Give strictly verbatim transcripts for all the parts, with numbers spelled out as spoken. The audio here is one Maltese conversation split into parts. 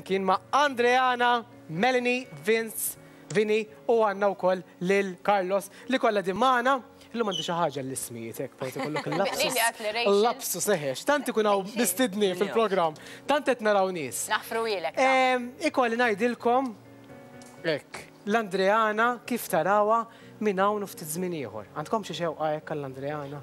Kien ma' Andreana, Melanie, Vince, Vini u għandna wkoll lil Carlos li kollha din magħna. Illum għandi xi ħaġa l-ismijiet hekk forsi kollok il-lapsus. Lili għat li Rachel. Il-lapsus eħex, tant ikun hawn mistedni fil-programm, tant qed naraw nies. Naħfru ilek. Em, Ikolli ngħidilkom hekk, l-Andreana kif tarawha minn hawn u ftit żmien ieħor. Għandkom xi xewqa hekk għall-Andreana?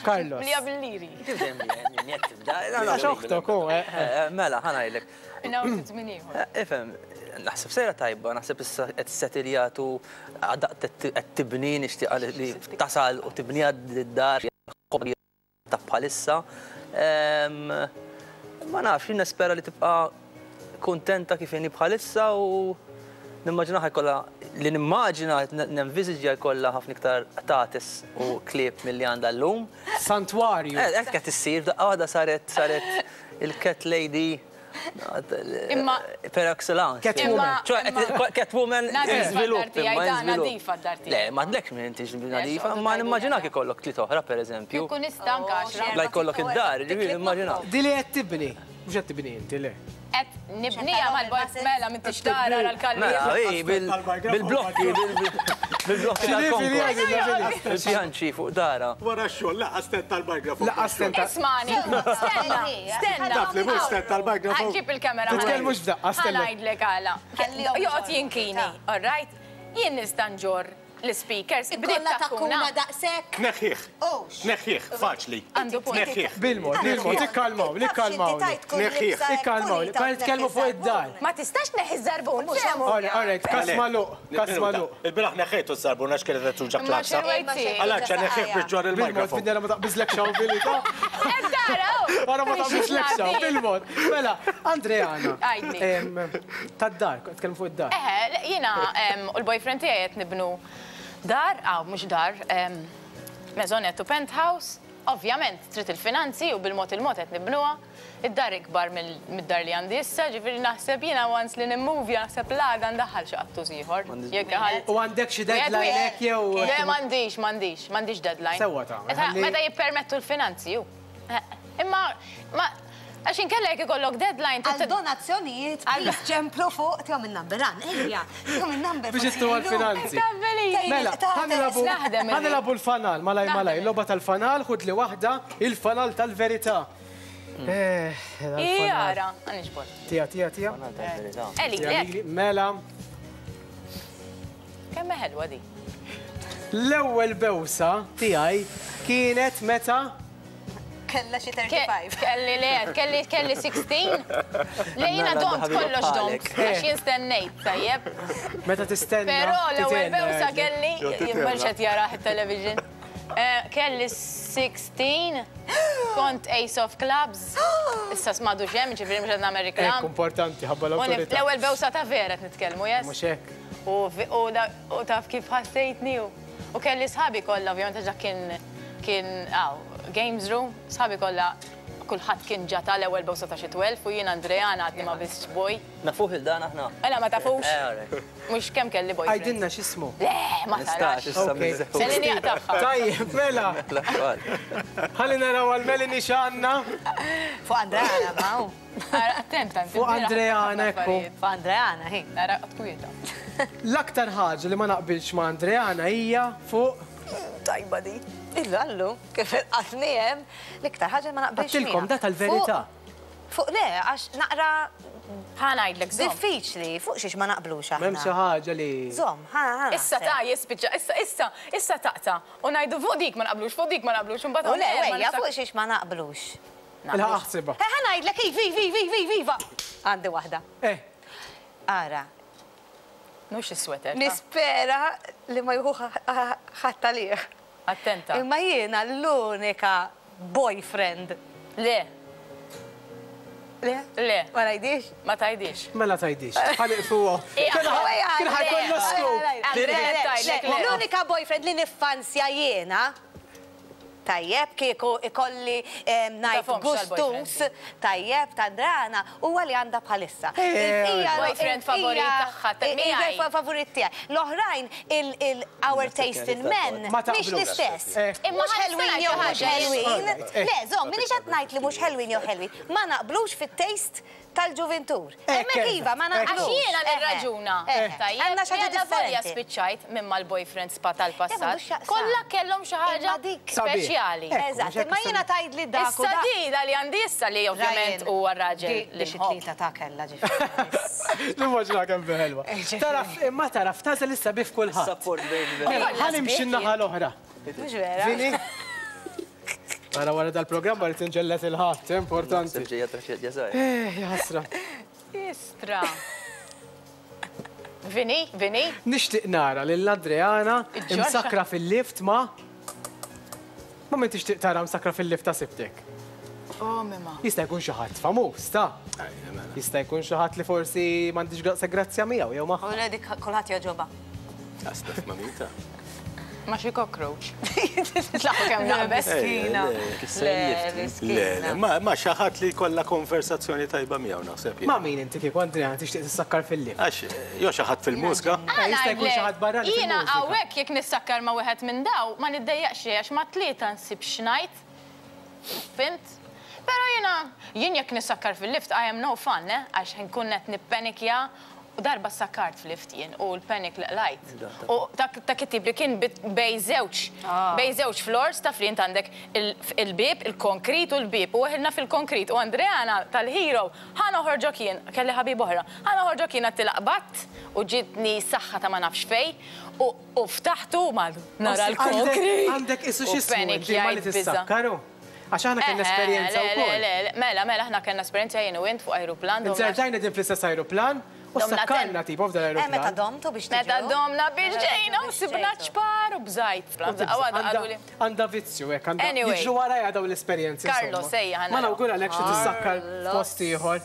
Carlos. Lija bil-liri. Kif dejjem li qed tibda? Għax oħtok hu, eh, eh. Mela, ħa ngħidlek. Minn hawn ftit żmien ieħor. Ifhem, naħseb sejra tajba, naħseb issa qed settiljatu qed tibni nixtieq li tasal u tibni d-dar ta' bħalissa. Em, Ma nafx, jien nispera li tibqa' kuntenta kif inhi bħalissa u nimmaġina jkollha li nimmaġina nenviżiġja jkollha ħafna iktar qtates u klieb milli għandha llum. Santwarju. Eh, Hekk qed issir, daqqa waħda saret saret il-cat lady Imma- per excellence. Catwoman. Ċoè, Imma- Catwoman Nadifa żvilupp, d-dar tiegħi, imma da, żvilupp. nadifa d-dar tiegħi. Le, ma għadlekx minn intix nadifa, xoqgħodu ma tgħidu nimmaġinak li ikollok tliet oħra per eżempju. Jkun nista' anke għaxra. La jkollok id-dar, ġifieri nimmaġina. Di li qed tibni, mhux qed tibni inti le. Qed nibnija mal-bojt mela minn tixtara għal-kalbi. Mela, ej, bil- bil-blokki, bil- bil-blokki tal-konkos. Il-pjanċi fuq dara. Wara x-xogħol, laqas tent tal-mikrofon. Laqas tent tal- Ismani, stenna, stenna. Taf li mhux tent tal-mikrofon. Ġib il-kamera. Titkellmux f'daqqa, stenna. Ħa ngħidlek għala. Joqgħod jinkini, all right? Jien nista' nġorr l-speakers. Bdiet Kolla takkuna. takkuna daqsek. Neħħih. Ux. Neħħih, faċli. Għandu punt. Neħħih. Bil-mod, bil-mod, ikkalmaw, ikkalmaw. Neħħih. Ikkalmaw, kan nitkellmu fuq id-dar. Ma tistax neħi żarbun. Mhux hemm. All right, all right, kas maluq, kas maluq. Il-bieraħ neħħejtu z-zarbun għax kienet qed tuġa Ma klaksa. xirwejti. Għalaċ neħħih biex ġor Bil-mod, il-mikrofon. bidna ma taqbiżlek xaw bil-ta. Dara, Għara ma taqbiżlek xaw, bil-mod. Mela, Andreana. Għidli. em, Tad-dar, tkellmu fuq id-dar. Eħe, le, jiena em, u l-boyfriend tiegħi qed nibnu dar, aw mhux dar, em, maisonette u penthouse. Ovvjament, trid il-finanzi u bil-mod il-mod qed nibnuha. Id-dar ikbar mill- mid-dar li għandi issa, ġifieri naħseb jiena once li nimmuvja naħseb l-għada ndaħħal xi qattus ieħor. Jekk ħal- U għandek xi deadline hekk jew. Le, m'għandix, m'għandix, m'għandix deadline. Sewwa tagħmel, Meta- ħalli- Meta jippermettu l-finanzi, ju. Eh, Imma, ma, għax inkella jekk ikollok deadline, Għal donazzjonijiet, please ċemplu fuq, tihom il-number, għan, ejja, tihom il-number. Biex ittu għal-finanzi. Mela, ħa nilagħbu Naħdem ħa nilagħbu l-fanal, malaj malaj, logħba tal-fanal, ħud li waħda, il-fanal tal-verità. Eh, dal-fanal. Jara, għanġbor. Tija, tija, tija. Eli, Tija, le, lili, Mela, kemm ħelwa di. l-ewwel bewsa tiegħi kienet meta Kella xi Ke- thirty-five. Kelli le, kelli kelli sittax. Le jiena Mela, domt ħabiba kollox domt, bħalek. għax jien stennejt, tajjeb. Meta tistenna. Però l-ewwel titenna, bewsa għedlek. kelli, jien mhux qed jarah it-television. Eh, Kelli sittax, kont Ace of Clubs, issa smadu ġem, ġifieri mhux qed nagħmel Ekk, reklam. importanti, ħabba U nif- l-awtorità. L-ewwel bewsa ta' vera qed nitkellmu, yes? Mhux hekk. U vi- u da- u taf kif ħassejtni u u kelli sħabi kollha, ovvjament għax dak kien kien aw, games room, sħabi kollha kulħadd kien ġata l-ewwel bewsa ta' xi tnax u jien Andreana għadni ma biss boy. Nafuh il-dan aħna. Ela ma tafux, Eh, all right. mhux kemm kelli boyfriend. Għajdilna x'ismu. Le, ma Nistax, tarax. issa Ok. miżew. Melanie jaqtagħha. Tajjeb, mela, ħalli naraw għal Melanie x'għandna. Fuq Andreana, ma hu. Ara, attenta. Fuq Andreana, ekku. Fuq Andreana, hi. Nara, kwieta. L-aktar ħaġa li ma naqbilx ma' Andreana hija fuq Tajba di. Illu għallu, kif il-qatni hemm, l-iktar ħaġa ma naqbilx. Għattilkom, miegħha. da tal-verità. Fuq fuq le, għax naqra Ħa ngħidlek, żomm. diffiċli, fuq xiex ma naqblux aħna. M'hemm xi ħaġa li. Żomm, ħa, ħa. Issa ta' jispiċċa, issa, issa, issa taqta. U ngħidu fuq dik ma naqblux, fuq dik ma naqblux, u mbagħad U le, hawn ma wejja, nista' fuq xiex ma naqblux. Il-ħaq aħsibha. Eh, ħa ngħidlek, iva, iva, iva, iva, iva. Għandi waħda. Eh, Ara, Mhux is-sweater. ta' nispera li ma jieħu ħadd għalih. Attenta. Imma jiena l-unika boyfriend. Le, Le? le, Ma ngħidix? ma tgħidix. Mela tgħidix. Ħa nieqfuha. Kien ħa jkollna scoop. Andrea, tgħidlek le. L-unika boyfriend li niffansja jiena Tajjeb, kieku ikolli em, ngħid Tafhomx gustus, tajjeb, ta' Adriana, huwa li għandha bħalissa. Eh, Il-bqija- Boyfriend favorit il-bqija- tagħha, ta' il- miegħi. il- favorit tiegħi. L-oħrajn, il-our taste in men, Ma mhix taqblux. l-istess. Eh. Imma Mhux ħa ħelwin nista' jew ngħid mhux xi ħaġa. ħelwin. Alright, eh. Le, żomm, minix qed ngħid li mhux ħelwin jew ħelwin. Ma naqblux fit-taste tal-ġuventur. Eh, Hemmhekk kif? iva, ma Eh, naqblux. Għax jiena Eh, nirraġuna. eh, Tajjeb, Għandna xi ħaġa jiena volja differenti. spiċċajt minn mal-boyfriends pa Eh, m'għandux tal-passat. x'jaqsam. Kollha kellhom xi ħaġa Imma dik- Sabiħ. speċjali. Eh, Eżatt, mhux hekk imma jiena tgħid li dak u Issa dak. di da li għandi issa li ovvjament Ryan, huwa raġel di- li di xi nħobb. tlieta ta' kella ġifieri. Nimmaġina kemm ħelwa. Ġifieri. Taraf, imma taraf, tażel issa bif kulħadd. Support baby. Mela, Kollha ħa nimxi sbieħ n-naħa l-oħra. Mhux vera? Vini? Mela wara dal-programm ma rrid inġellet il-ħadd, importanti. Ġejja traċedja żgħira. Eh, ja ħasra. Istra. Vini, Vini, Nixtieq nara lil Adriana Iġġorxa. imsakra fil-lift ma' Ma min tixtieq tara msakra fil-lift ta' sibtek? Oh, mima. Jista' jkun xi ħadd famuż, ta' Jista' jkun xi ħadd li forsi m'għandix gra- grazzja miegħu jew magħha. U le dik kulħadd jogħġobha. Astaf ma' min ta' Ma xi cockroach. Tlaħu kemm naqbes. Miskina. Le, Le, Le, le, ma ma xi ħadd li jkollha konversazzjoni tajba miegħu naħseb jien. Ma' min inti kieku Andrea tixtieq tissakkar fil-lift? Għax, jew xi ħadd fil-mużika. Eh, Jista' jkun xi ħadd barrani Jiena fil-mużika. hawnhekk jekk nissakkar ma' wieħed minn daw, ma niddejjaqx għax ma' tlieta nsib xnajt. Fimt? Però jiena jien jekk nissakkar fil-lift I am no fun, eh? Għax nkun qed nippenikja u darba sakkart fil-lift jien u l-panic li qlajt. U dak dak it-tip li kien bit- bej żewġ, bej żewġ floors taf li int għandek il- il-bib, il-konkrit u l-bib. U weħilna fil-konkrit u Andreana tal-Hero ħa noħorġok jien, kelli ħabib oħra, ħa noħorġok jien għattilaqbat u ġitni saħħa ta' ma nafx fej u u ftaħtu ma nara l-konkrit. Għandek isu U x'ismu panic inti ma li jgħid biża'. tissakkaru. Għax aħna kellna Eh, esperjenza le, le, wkoll. le, le, Mela, mela, aħna kellna esperjenza jien u int fuq aeroplan. domna- Inzertajna din fl-istess aeroplan u Domna sakkarna ten. tipo f'dan Eh, meta l-aeroplan. domtu biex Meta tiġu. domna biex ġejna u Biex sibna ġejtu. ċpar u bżajt. Għawad qaluli. Għandha vizzju hekk, għandha Anyway. jiġru warajja dawn l-esperjenzi. Carlos, insomma. ejja, ħa Ma naraw. nawguralek xi tissakkar f'post ieħor.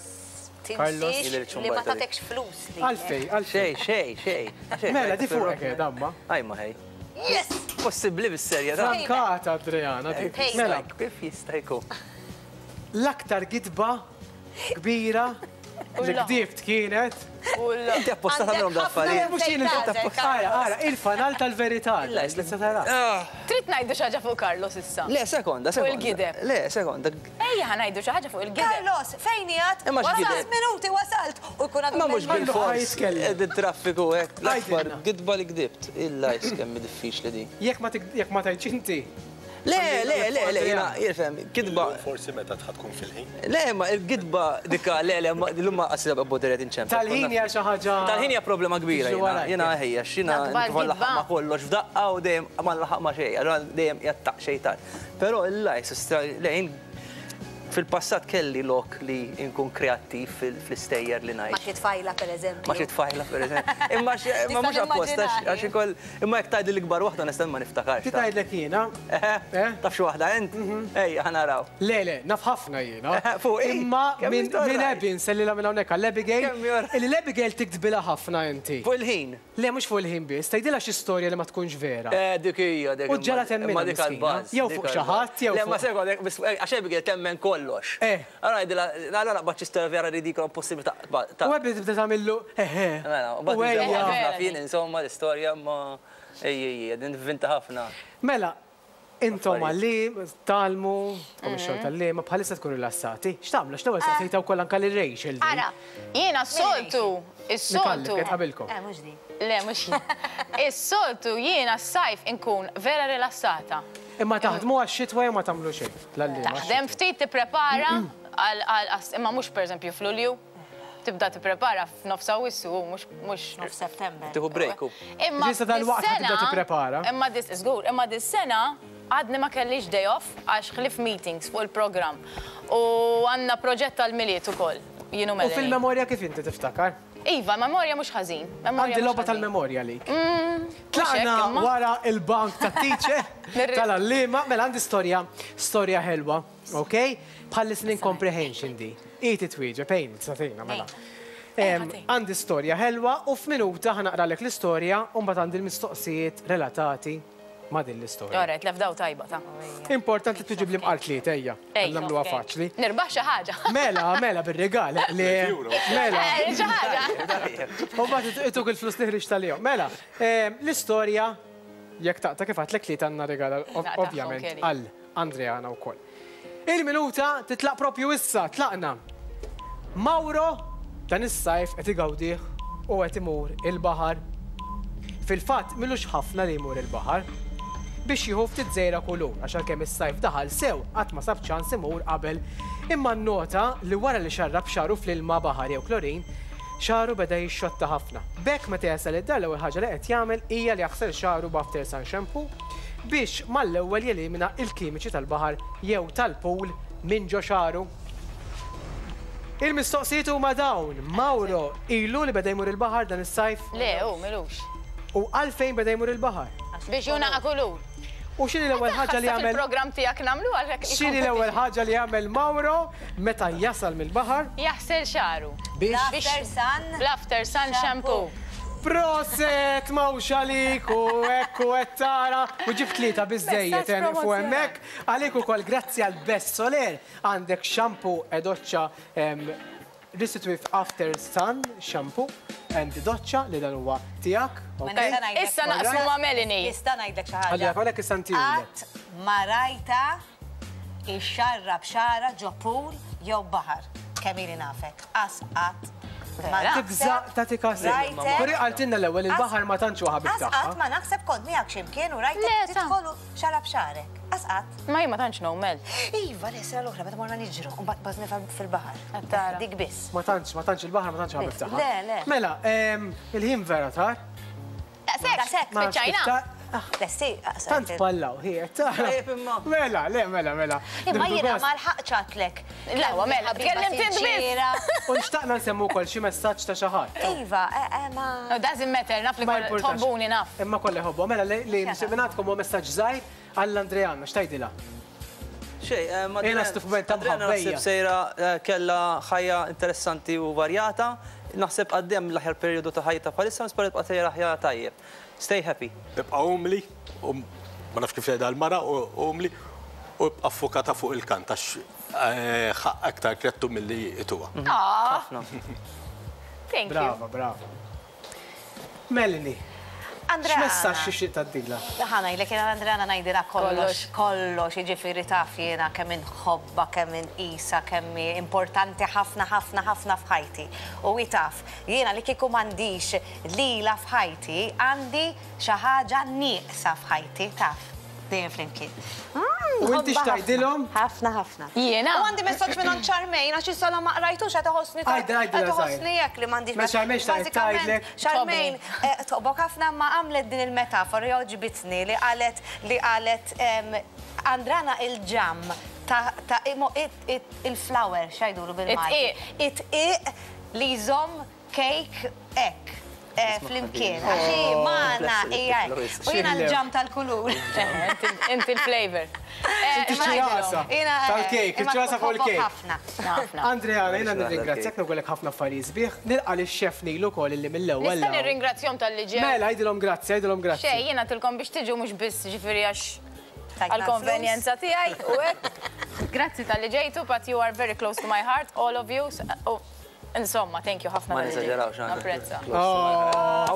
Carlos. Tinsiex li ma tatekx flus. li. Għalfej, għalfej. Xej, xej, xej. Mela, di fuqek eh, damma. Aj ma ħej. Yes! Possibbli bis-serja ta' Frankata, Adriana. dik. Payback. Mela, Kif jista' jkun? l-aktar gidba kbira li Ulla. kdibt kienet. Inti apposta Għandek tagħmilhom ħafna daffarijiet. Mhux jien Fejn il Ara, ara, il-fanal tal-verità. Illa, Li se tara. Trid ngħidu xi ħaġa fuq Carlos issa. Le, sekonda, sekonda. il-gideb. Le, sekonda. Ejja ħa ngħidu xi ħaġa fuq il-gideb. Carlos, fejn jgħat? Imma x'gideb? Wasalt minuti, wasalt. U jkun għadu Ma mhux Għandu ħa bil-fors. jitkellem. Ed traffiku hekk. L-akbar Għajdilna. gidba li gdibt. Illa kemm diffiċli di. Jekk ma tik- jekk ma tgħidx inti. Le, le, le, le, jiena, jirfem, gidba. Forsi meta tħad tkun fil-ħin. Le, ma il-gidba dika, le, le, ma l-umma qasib bodderet inċemp. Tal-ħin hija xi ħaġa. Tal-ħin hija problema kbira, Jiġri jiena, warajk. jiena ħejja, xina L-akbar nipprova gidba. nlaħħaq ma kollox f'daqqa u dejjem ma nlaħħaq ma xejn, allura dejjem jattaq xejn tard. Però il-lajs, le, jien fil-passat kelli lok li nkun kreattiv fil- fl-istejjer li Ma ngħid. xi tfajla, per eżempju. Ma xi tfajla, per eżempju. Imma xi- imma mhux Nista' apposta, nimmaġinani. għax ikoll, imma jekk tgħidli l-ikbar waħda onestament ma niftakarx. Ti tgħidlek jiena. Eh, Taf xi waħda int? Ejja, ħa naraw. Le, le, naf ħafna jiena. Eh, fuq, eh, Imma kemm minn jistorraj? minn Abby nsellilha minn hawnhekk għall-Abigail. Kemm jor- Illi l-Abigail tiktbilha ħafna inti. Fuq il-ħin. Le, mhux fuq il-ħin biss, tgħidilha xi storja li ma tkunx vera. Eh, dik hija, dik. U ġara temminha imma dik miskina. għall-baż, Jew dik fuq xi għall-baż. ħadd, jew Le, ma fuq- sekonda, biss, eh, għax Abigail temmen kollox. Eh. Allora ngħidilha, allora naqbad xi storja vera ridikola impossibbli ta' ta' U Abby tibda tagħmillu eħe. Mela, u U bad ejja. ħafna fin, insomma, l-istorja ma ej, ej, ej, ninventa ħafna. Mela, intom għalli, talmu, u xogħol tal-liema, bħalissa tkunu rilassati. X'tagħmlu? X'l-ewwel saqsejta wkoll anke lil Rachel. din. Ara, jiena s-soltu, is-soltu. Nikallek, qed qabilkom. Eh, mhux di. Le, mhux jien. Is-soltu jiena s-sajf inkun vera rilassata. Imma taħdmu għax-xitwa jew ma tagħmlu xejn. L-għalliema. Taħdem ftit tipprepara għal għal imma mhux pereżempju f'Lulju. Tibda tipprepara f'nofs Awwissu mhux mhux Nof September. Tieħu break u. Imma Ġisa dal-waqt dis-sena- tibda tipprepara. Imma dis żgur, imma dis-sena għadni ma kellix day off għax ħlif meetings fuq il-programm. U għandna proġett tal-Milied ukoll. Jienu U Melanie. fil-memorja kif inti tiftakar? Iva, memorja mhux ħażin. Memorja Għandi mhux logħba ħażin. tal-memorja lik. mhux hekk, Tlaqna imma. wara il-bank ta' teacher Nirri- tal-għallima, mela għandi storja, storja ħelwa, ok? Bħal listening comprehension di. Iti twieġeb, ejn, satina, mela. Em, Għandi storja ħelwa u f'minuta ħa naqralek l-istorja u mbagħad għandi l-mistoqsijiet relatati ma' din l-istorja. Alright, lefdaw tajba ta'. Importanti tiġib li mqar tlieta ejja. Ejja, Nagħmluha ok. faċli. Nirbaħ xi ħaġa. Mela, mela bir-rigal li mela. Eh, Xi ħaġa. U mbagħad ituk il-flus li ħriġt tal-jom. Mela, ehm, l-istorja jekk taqta' kif għedtlek li għandna rigal Naqtagħhom, ovvjament Kelly. għal Andreana wkoll. Il-minuta titlaq propju issa, tlaqna. Mauro dan is-sajf qed igawdih u qed imur il-baħar. Fil-fatt m'ilux ħafna li jmur il-baħar biex jieħu ftit żejra kulur għax għalkemm is-sajf daħal sew qatt ma sab ċans imur qabel imma nnota li wara li xarrab xagħru fl-ilma baħar jew klorin xagħru beda jixxotta ħafna. B'hekk meta jasal id-dar l-ewwel ħaġa li qed jagħmel hija li jaħsel xagħru b'after sun shampoo biex mal-ewwel jelimina il-kimiċi tal-baħar jew tal-pool minn ġo xagħru. Il-mistoqsijiet huma dawn. Mauro ilu li beda jmur il-baħar dan is-sajf Le, u m'ilux. u għalfejn beda jmur il-baħar. Biex junaqa kulur. U x'inhi l-ewwel ħaġa li jagħmel Il-programm tiegħek nagħmlu għalhekk. X'inhi l-ewwel ħaġa li jagħmel Mauro meta jasal mill-baħar Jaħsel xagħru. biex L-after sun. L-after sun shampoo. Proset mawx għalik u hekk u qed tara u ġib tlieta biżejjed Messaġġ eh, nieqfu promozzjonali. hemmhekk. Għalik ukoll grazzi għal Best Soler għandek shampoo e doċċa em, Restitutive After Sun Shampoo and doċċa li dan huwa tiegħek. Ma ok? nista' ngħidlek- Issa naqsmu ma' Melanie. Nista' ngħidlek xi ħaġa. Ħalli għalek issa ntihulek. Qatt ma rajta ixxarrab xagħra ġo pool jew baħar. Kemm ili nafek. Qas qatt. ma Vera? Tibża' naħseb tagħti kasek. rajtek- Kuri qaltilna l-ewwel il-baħar ma tantx huwa ħabib Qas tagħha. qatt ma naħseb kont miegħek x'imkien u Le, rajtek ta' tidħol u xarab xagħrek. Qas qatt. Ma jien ma tantx nomel. Iva, le, sena l-oħra, meta morna niġru, u mbagħad bażni fil-baħar. Qed tara. Dik biss. Ma tantx, ma tantx il-baħar ma tantx ħabib tagħha. Le, le. Mela, em, il-ħin vera tar. Daqshekk, Daqshekk, Ma nafx kif spiċċajna. ta- ah, Lesti, Tant pallaw, hi, tara. Tajjeb imma. Mela, le, mela, mela. Imma Nieħdu jiena gost. ma lħaqx għatlek. La, huwa mela, tkellimt int biss. U nxtaqna nsemmu wkoll xi messaġġ ta' xi ħadd. Iva, eh, eh, ma. No, doesn't matter, naf li Ma koll importax. tħobbuni naf. Imma kollha jħobbu. Mela li li mingħandkom huwa messaġġ żgħir għall-Andreana, x'tgħidilha? Xej, eh, ma Jiena stufment ta' Adriana mħabbejja. naħseb sejra eh, kella ħajja interessanti u varjata. Naħseb għaddejja l-aħjar periodu ta' ħajta bħalissa, nispera tibqa' sejra ħajja tajjeb. Stay happy. Ibqa' umli, u ma nafx kif jgħidha l-mara, u umli, u ibqa' fokata fuq il-kant, għax eh, ħaqq aktar krettu milli ituha. Ah, Ħafna. thank you. Brava, brava. Melanie, Andreana. x'messaġġ tixtieq tgħaddilha? Ħa ngħidlek jiena Andreana ngħidilha kollox, kollox, jiġifieri taf jiena kemm inħobbha, kemm inqisha, kemm hi importanti ħafna ħafna ħafna f'ħajti. U hi taf, jiena li kieku m'għandix lila f'ħajti, għandi xi ħaġa nieqsa f'ħajti, taf. Dejjem flimkien. U inti x'tgħidilhom? Ħafna ħafna. Jiena? U għandi messaġġ minn Charmaine għax issa la ma qrajtux qed iħossni Għajdra, għajdra, qed iħossni żgħir. hekk li m'għandix. Ma Charmaine x'tgħid- Bażikament, tgħidlek? Charmaine, eh, toqbok ħafna ma għamlet din il-metafora jogħġbitni li qalet li qalet em, Andrana il-ġam ta' ta' imo- it- it- il-flower x'jgħidulu bil-Malti. It-tqiq li jżomm cake hekk. eh, Flimkien, għax hi magħna hija hekk. U jiena l-ġam tal-kulur. Eh, Inti inti il-flavor. Eh, Inti ma ċ-ċirasa Jiena, eh, tal-kejk, imma iċ-ċirasa fuq tħobbok il-kejk. ħafna. Ħafna. Andreana, jiena nirringrazzjak nagħmellek ħafna affarijiet sbieħ. Nilqa' lix-chef Nilu wkoll illi mill-ewwel. Nista' nirringrazzjahom talli ġew. Mela, għidilhom grazzi, għidilhom grazzi. Xej, jiena tilkom biex tiġu mhux biss ġifieri għax Tajtna għal-konvenjenza tiegħi u hekk. Grazzi talli ġejtu, but you are very close to my heart, all of you. Oh, Insomma, thank you ħafna Ma talli ġejtu. nesaġerawx, għandek. Napprezza.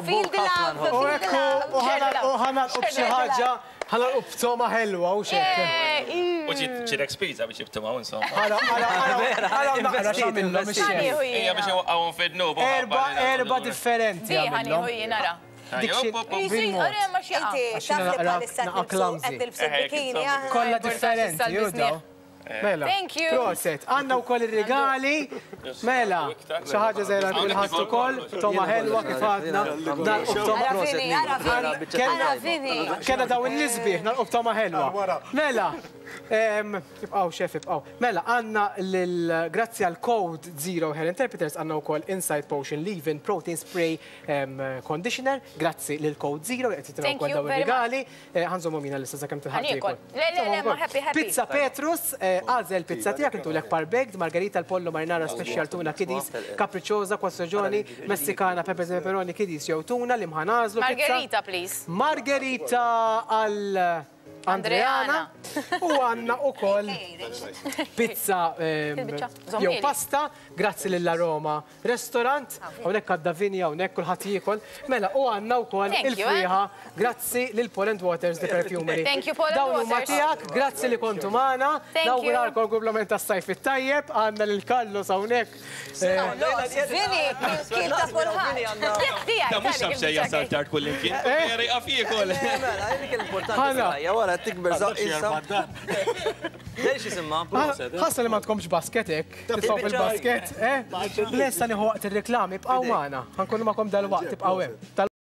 Feel the love, U feel the ekku, love. u ħa nagħlqu b'xi ħaġa, ħa nagħlqu b'togħma ħelwa u xek. Eh, U ġit ċirek spiża biex jibtumaw insomma. Ħara, ħara, ħara, ħara, naqra x'għamilhom ix-chef. Ħanieħu Ija biex jiena. iwaqqawhom fid-dnub. Erba, erba differenti Di ħanieħu għamilhom. jiena ra. Dik xi- bil-mod. Ora ma xi Inti Għax taf li jiena naqra- bħalissa naqa' tilbsu clumsy. qed tilbsu Eh, bikini. insomma. aħna. Kolla Importanti differenti, sal-bisniħ. judaw. Mela. Thank you. Proset, għandna wkoll ir-regali. Mela, xi ħaġa żgħira kulħadd ukoll, togħma ħelwa kif għadna. Nagħlqu b'togħma Ara Vini, ara Vini. Kellna- Ara Vini. Kellna daw in-nisbieħ, nagħlqu b'togħma ħelwa. Mela, Ibqaw, xef, ibqaw. Mela, għandna grazzi għal Code Zero Hair Interpreters għandna wkoll Inside Potion Leave-In Protein Spray Conditioner. Grazzi lil Code Zero li qed jitilgħu wkoll dawn ir-rigali. Ħa nżommu mina l-issa sakemm tilħaq tiekol. Le, le, le, ma happy, happy. Pizza Petrus, għażel pizza tiegħek intulek par-baked, margarita, l-pollo, marinara, special tuna, kiddies, capricciosa, quattro messikana, pepe pepperoni, kiddies jew tuna li mħa nagħżlu. Margherita, please. Margherita għal Andreana u għandna wkoll pizza jew pasta, grazzi lill-Aroma Restaurant, hawnhekk għadda vinja, hawnhekk kulħadd jiekol. Mela, u għandna wkoll il-frieħa, grazzi lil Poland Waters The Perfumery. Thank you, Poland Dawn huma Waters. tiegħek, grazzi li kontu magħna. Thank you. Nawguralkom kumplament tas-sajf it-tajjeb, għandna lil Carlos hawnhekk. Vini, kien ta' kulħadd. Da mhux taf xejn jasal tard kullimkien. Jeri qaf jiekol. Mela, dik l-importanti Ħana. fil-ħajja, wara tikber żaq issa. Dejx jisimha. Ħassa li ma tkomx basket hekk, titfgħu fil-basket, eh? Lesta nieħu waqt ir-reklami, ibqgħu magħna. Ħa nkunu magħkom dal-waqt, ibqgħu hemm.